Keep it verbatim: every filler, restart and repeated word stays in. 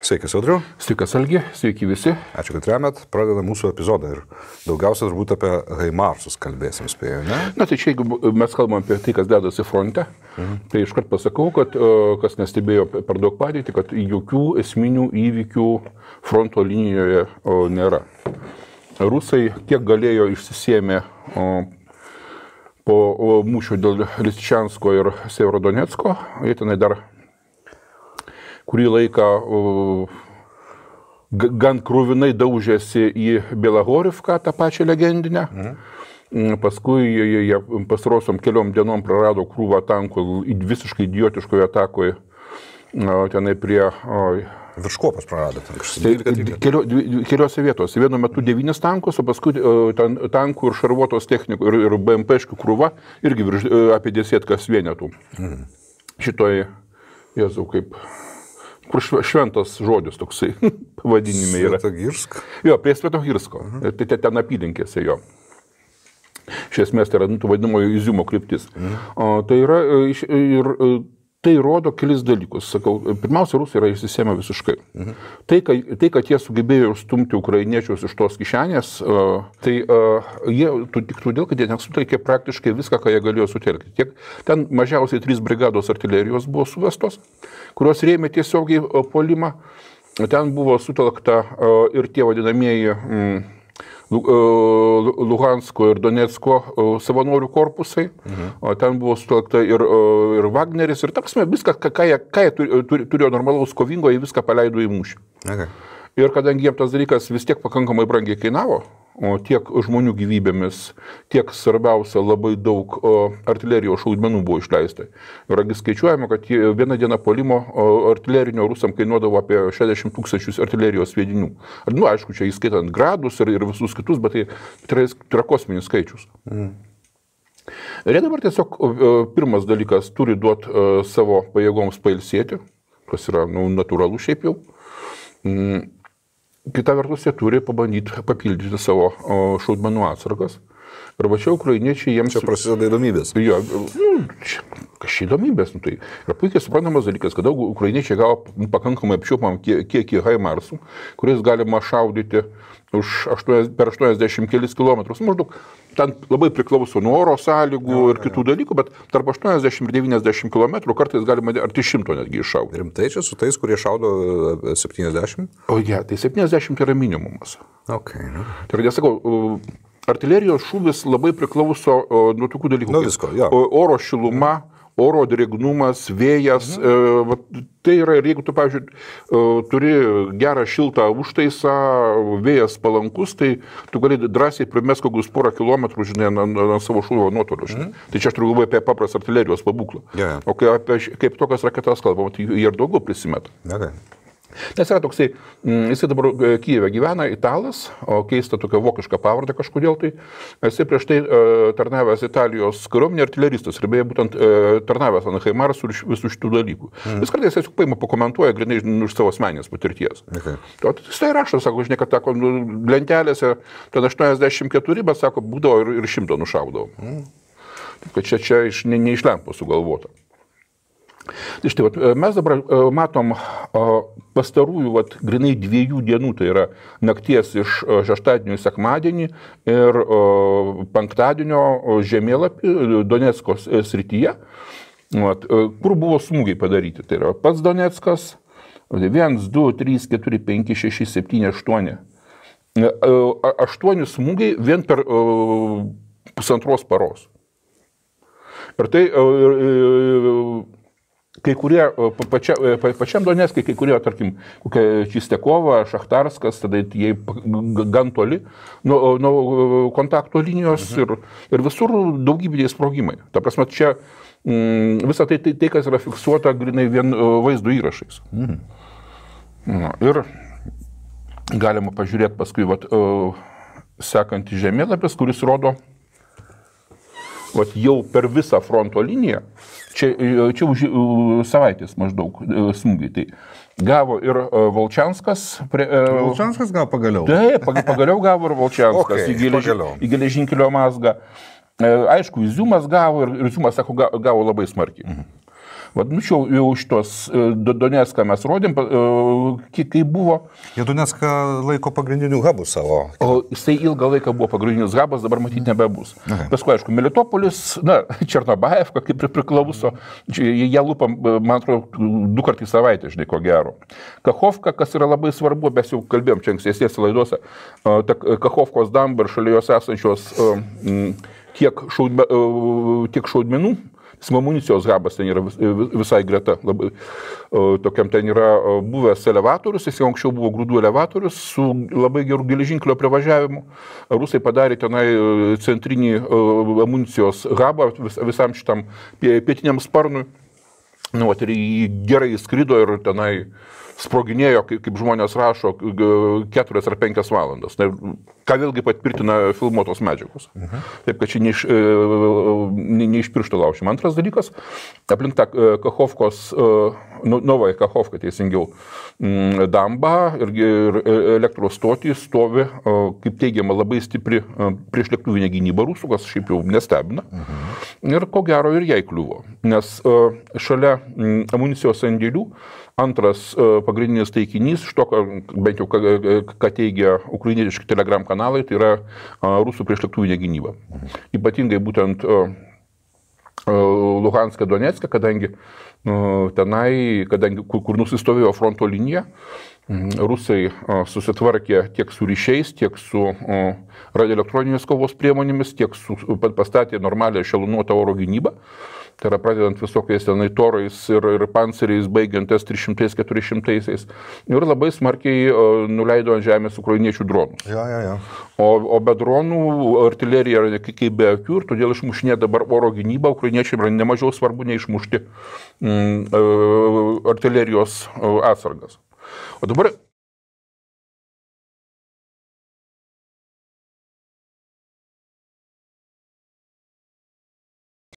Sveikas, Audriau. Sveikas, Algi. Sveiki visi. Ačiū, kad remet. Pradedame mūsų epizodą ir daugiausia turbūt apie Haimarsus kalbėsim, spėjau, ne? Na, tai čia, jeigu mes kalbam apie tai, kas dedasi fronte, mhm. tai iškart pasakau, kad kas nestebėjo per daug padėtį, kad jokių esminių įvykių fronto linijoje nėra. Rusai kiek galėjo išsisėmė po mūšio dėl Lisyčiansko ir Severodonecko, jie tenai dar kurį laiką gan krūvinai daužėsi į Belagorivką, tą pačią legendinę. Mhm. Paskui jie, jie pastarosiom keliom dienom prarado krūvą tankų visiškai idiotiškoje atakoje tenai prie... Virš Kuopos prarado. Tai kelio, keliose vietose. Vienu metu devynis tankus, o paskui ten, tankų ir šarvuotos technikų ir, ir B M P-škių krūva irgi virš, apie desietkas vienetų. Mhm. Šitoj, Jėzau, kaip... kur šventas žodis toksai pavadinime yra. Svetogirsk? Jo, prie Svetogirsko. Mhm. Tai ten apylinkėse jo. Iš esmės tai yra, nu, vadinamojo Iziumo kryptis. Mhm. O, tai yra ir tai rodo kelis dalykus. Sakau, pirmiausia, rusai yra išsisėmę visiškai. Mhm. Tai, kad, tai, kad jie sugebėjo stumti ukrainiečius iš tos kišenės, tai jie tik todėl, kad jie nesutelkė praktiškai viską, ką jie galėjo sutelkti. Tiek, ten mažiausiai trys brigados artilerijos buvo suvestos, kurios rėmė tiesiogiai puolimą. Ten buvo sutelkta ir tie vadinamieji Luhansko ir Donecko savanorių korpusai. Mhm. Ten buvo sutelkta ir, ir Wagneris, ir taksime, viską, ką jie, ką jie turėjo normalaus kovingo, jie viską paleido į mūšį. Okay. Ir kadangi jiems tas dalykas vis tiek pakankamai brangiai kainavo, o tiek žmonių gyvybėmis, tiek svarbiausia labai daug o, artilerijos šaudmenų buvo išleista. Ir skaičiuojama, kad vieną dieną puolimo artilerinio rusam kainuodavo apie šešiasdešimt tūkstančius artilerijos sviedinių. Nu, aišku, čia įskaitant gradus ir, ir visus kitus, bet tai, tai yra kosminis skaičius. Mm. Ir jie dabar tiesiog pirmas dalykas turi duoti savo pajėgoms pailsėti, kas yra nu, natūralu šiaip jau. Mm. Kita vertus, jie turi pabandyti papildyti savo šaudmenų atsargas. Ir va čia ukrainiečiai jiems... Čia prasideda įdomybės. Jo, nu, čia, kas čia įdomybės? Nu, tai yra puikiai suprantamas dalykas, kad daug ukrainiečiai gavo pakankamai apčiuopam kiekį Haimarsų, kuris galima šaudyti už aštuoniasdešimt, per aštuoniasdešimt kelis kilometrus. Maždaug ten labai priklauso nuo oro sąlygų jo, ir kitų jo. dalykų, bet tarp aštuoniasdešimt ir devyniasdešimt kilometrų kartais galima arti šimto netgi iššaudyti. Rimtai čia su tais, kurie šaudo septyniasdešimt? O ja, tai septyniasdešimt yra minimumas. Okay, no. Tai yra, sakau, artilerijos šūvis labai priklauso nuo tokių dalykų. Nuo visko, jo. Oro šiluma, oro drėgnumas, vėjas. Mhm. E, tai yra, ir jeigu tu, pavyzdžiui, e, turi gerą šiltą užtaisą, vėjas palankus, tai tu gali drąsiai primest kokius porą kilometrų, žinai, ant savo šūvio nuotolio. Mhm. Tai čia aš turiu galvoje apie paprastą artilerijos pabūklą. Yeah. O kai apie, kaip tokias raketas kalbam, tai jie ir daugiau prisimeta. Okay. Nes yra toksai, jisai dabar Kijeve gyvena, italas, o keista tokia vokiška pavardę kažkodėl tai. Jisai prieš tai e, tarnavęs Italijos kariuomenė artileristas ir beje būtent e, tarnavęs ant Haimarsų ir visų šitų dalykų. Mm. Vis kartais jis paima pakomentuoja grinai iš savo asmeninės patirties. Okay. O jis tai rašo, sako, žinai, kad tako, lentelėse ten aštuoniasdešimt keturi, bet sako, būdavo ir, ir šimto nušaudavo. Mm. Kad čia, čia iš, ne, ne iš lempo sugalvota. Tai štai, vat, mes dabar matom pastarųjų vat, grinai dviejų dienų, tai yra nakties iš šeštadienio į sekmadienį ir penktadienio žemėlapį Donecko srityje, vat, kur buvo smūgiai padaryti. Tai yra pats Doneckas, vienas, du, trys, keturi, penki, šeši, septyni, aštuoni. Aštuoni smūgiai vien per pusantros paros. Ir tai... Kai kurie, pačia, pačiam Doneckai, kai kurie, tarkim, kokia Čistekova, Šachtarskas, tada jie gan toli nuo, nuo kontakto linijos mhm. ir, ir visur daugybiniai sprogimai. Ta prasme, čia mm, visa tai, tai, tai, kas yra fiksuota grinai vien vaizdo įrašais. Mhm. Na, ir galima pažiūrėti paskui vat, sekantį žemėlapis, kuris rodo vat, jau per visą fronto liniją. Čia, čia už savaitės maždaug smūgiai. Tai gavo ir Volčianskas. Prie, Volčianskas gavo pagaliau. Taip, pagaliau gavo ir Volčianskas okay, į, geleži, į geležinkelio mazgą. Aišku, Iziumas gavo ir Iziumas, sako, gavo labai smarkiai. Mhm. Vadinčiau, jau šitos Donecką mes rodėm, kai buvo. Jie Donecką laiko pagrindinių hubų savo. O jisai ilgą laiką buvo pagrindinis hubas, dabar matyti nebebus. Paskui, aišku, Melitopolis, na, Černobaevka kaip ir priklauso, jie lupa, man atrodo, du kartų į savaitę, žinai, ko gero. Kachovka, kas yra labai svarbu, mes jau kalbėjom čia ankstesnėse laidose, ta Kachovkos damba ir šalia jos esančios tiek, šaudme, tiek šaudmenų, amunicijos hubas ten yra visai greta, labai, tokiam ten yra buvęs elevatorius, jis jau anksčiau buvo grūdų elevatorius su labai gerų geležinkelio privažiavimu. Rusai padarė tenai centrinį amunicijos hubą vis, visam šitam pietiniam sparnui. Nu, ir jį gerai skrido ir tenai sproginėjo, kaip, kaip žmonės rašo, keturias ar penkias valandas. Tai, ką vėlgi patvirtina filmuotos medžiagos. Uh-huh. Taip, kad čia ne iš, ne, ne iš piršto laušim. Antras dalykas, aplink tą Kachovkos, Novąją Kachovką teisingiau, dambą ir, ir elektros stotį stovi, kaip teigiama, labai stipri priešlėktuvinė gynyba rusų, kas šiaip jau nestebina. Uh-huh. Ir ko gero ir jai kliuvo. Nes šalia amunicijos sandėlių antras pagrindinis taikinys, iš to, bent jau ką teigia ukrainietiški telegram kanalai, tai yra rusų priešlėktuvinė gynyba. Ypatingai būtent Luhanska, Donecka, kadangi tenai, kadangi kur nusistovėjo fronto linija, rusai susitvarkė tiek su ryšiais, tiek su radioelektroninės kovos priemonėmis, tiek su, pastatė normalią ešelonuotą oro gynybą. Tai yra pradedant visokiais tenai torais ir, ir panceriais, baigiant S trys šimtai keturi šimtai. Ir labai smarkiai nuleido ant žemės ukrainiečių dronus. Ja, ja, ja. O, o be dronų artilerija yra kaip be akių ir todėl išmušinė dabar oro gynybą. Ukrainiečiai yra nemažiau svarbu neišmušti mm, artilerijos atsargas. O dabar